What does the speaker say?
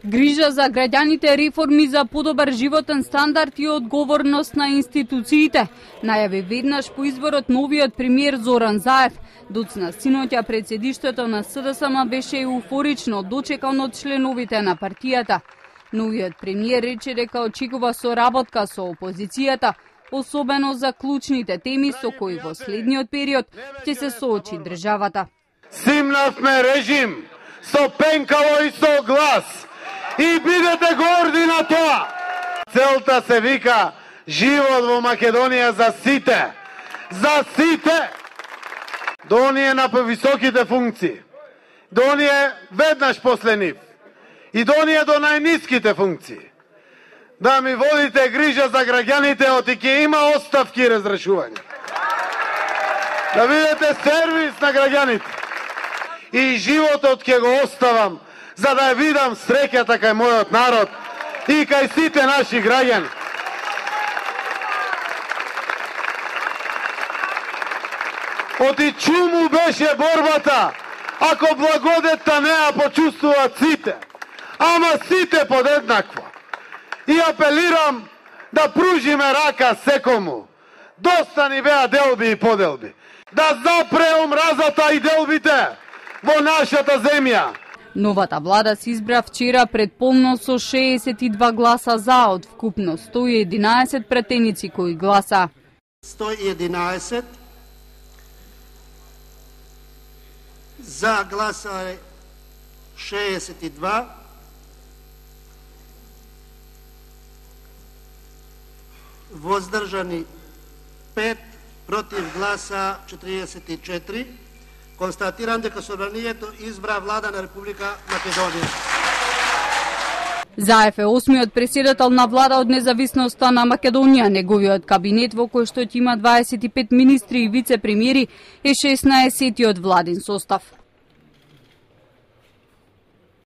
Грижа за граѓаните, реформи за подобар животен стандард и одговорност на институциите, најави веднаш по изборот новиот премиер Зоран Заев. Доцна синоќа пред седиштето на СДСМ беше еуфорично дочекан од членовите на партијата. Новиот премиер рече дека очекува соработка со опозицијата, особено за клучните теми со кои во следниот период ќе се соочи државата. Симнавме режим со пенкаво и со глас. И бидете горди на тоа. Целта се вика живот во Македонија за сите. За сите. До оние на повисоките функции. До оние веднаш после нив. И до оние до најниските функции. Да ми водите грижа за граѓаните, оти ќе има оставки и разрешување. Да видите сервис на граѓаните. И животот ќе го оставам, за да ја видам среќата кај мојот народ и кај сите наши граѓани. Оти чуму беше борбата, ако благодетта не ја почувствуваат сите, ама сите подеднакво. И апелирам да пружиме рака секому. Доста ни беа делби и поделби. Да запре омразата и делбите во нашата земја. Новата влада се избра вчера предполно со 62 гласа за од вкупно 111 пратеници кои гласа. 111 за гласа 62, воздржани 5, против гласа 44. Констатирам дека Собранието избра влада на Република Македонија. Заев е 8-миот претседател на влада од независноста на Македонија. Неговиот кабинет, во кој што има 25 министри и вице-премиери, е 16-тиот владин состав.